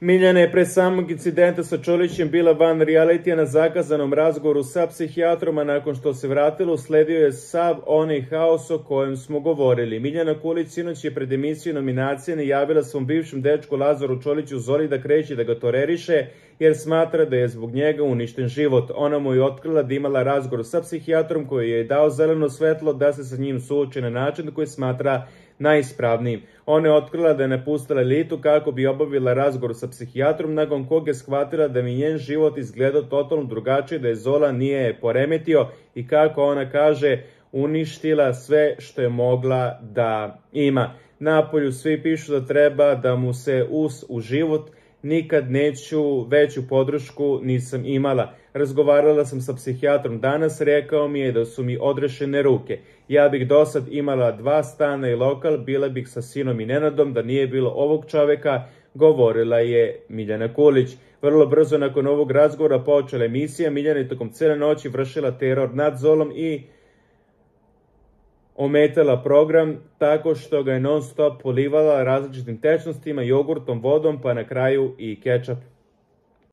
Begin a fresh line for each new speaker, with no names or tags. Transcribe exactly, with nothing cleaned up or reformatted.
Miljana je pre samog incidenta sa Čolićem bila van realitija na zakazanom razgovoru sa psihijatrom, a nakon što se vratila usledio je sav onaj haos o kojem smo govorili. Miljana Kulić sinoć je pred emisiju nominacije najavila svom bivšem dečku Lazaru Čoliću Zoli da kreće da ga toreriše jer smatra da je zbog njega uništen život. Ona mu je otkrila da imala razgovor sa psihijatrom koji je dao zeleno svetlo da se sa njim suoči na način koji smatra najispravnijim. Ona je otkrila da je napustila elitu kako bi obavila razgovor sa psihijatrom, nakon kog je shvatila da mi njen život izgledao totalno drugačije, da je Zola nije poremetio i kako ona kaže, uništila sve što je mogla da ima. Napolju svi pišu da treba da mu se us u život, nikad neću veću podršku nisam imala. Razgovarala sam sa psihijatrom danas, rekao mi je da su mi odrešene ruke. Ja bih do sad imala dva stana i lokal, bila bih sa sinom i Nenadom, da nije bilo ovog čoveka, govorila je Miljana Kulić. Vrlo brzo nakon ovog razgovora počela emisija. Miljana je tokom cele noći vršila teror nad Zolom i ometala program tako što ga je non stop polivala različitim tečnostima, jogurtom, vodom, pa na kraju i kečap.